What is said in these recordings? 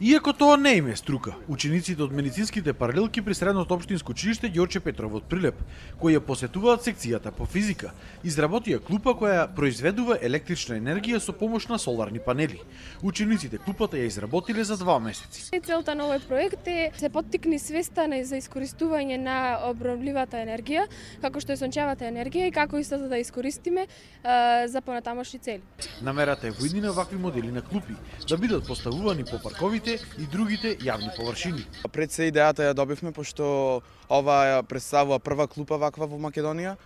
Иако тоа не им е струка, учениците од медицинските паралелки при Средното општинско училиште Ѓорче Петров од Прилеп, кои ја посетуваат секцијата по физика, изработија клупа која произведува електрична енергија со помош на соларни панели. Учениците клупата ја изработиле за 2 месеци. Целта на овој проект е се поттикне свеста за искористување на обновливата енергија, како што е сончевата енергија и како истото да искористиме за понатамошни цели. Намерата е во иднина вакви модели на клупи да бидат поставувани по парковите и другите јавни површини. Пред се идејата ја добивме, пошто ова ја представува прва клупа ваква во Македонија.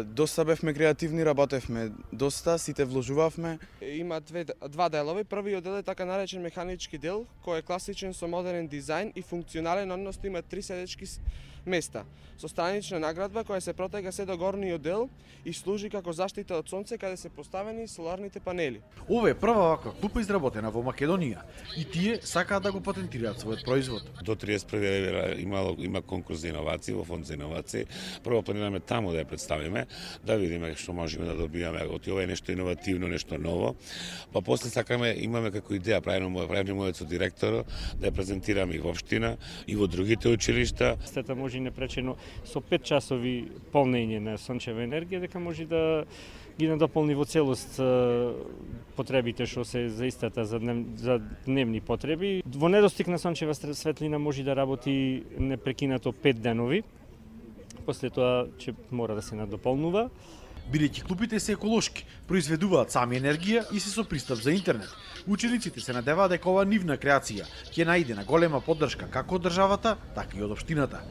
Доста бевме креативни, работевме доста, сите вложувавме. Има два делови. Првиот дел е така наречен механички дел, кој е класичен со модерен дизајн и функционален, односно има 3 седечки места. Со странична наградба која се протега се до горниот дел и служи како заштита од сонце каде се поставени соларните панели. Ова е прва ваква клупа изработена во Македонија и тие сакаат да го патентираат својот производ. До 31 има конкурс за иновации во фонд за иновации. Прво планираме таму да ја представиме, да видиме што можеме да добиеме од ова е нешто иновативно, нешто ново. Па после сакаме, имаме како идеја, правиме мојот со директорот, да ја презентираме и во општина и во другите училишта. Стата може непречено со 5 часови полнење на сончева енергија дека може да ги надополни во целост потребите што се заистата за дневни потреби. Во недостиг на сончева светлина може да работи непрекинато 5 денови. После тоа ќе мора да се надополнува. Бидејќи клупите се еколошки, произведуваат сами енергија и се со пристап за интернет. Учениците се надеваат дека ова нивна креација ќе најде на голема поддршка како од државата, така и од општината.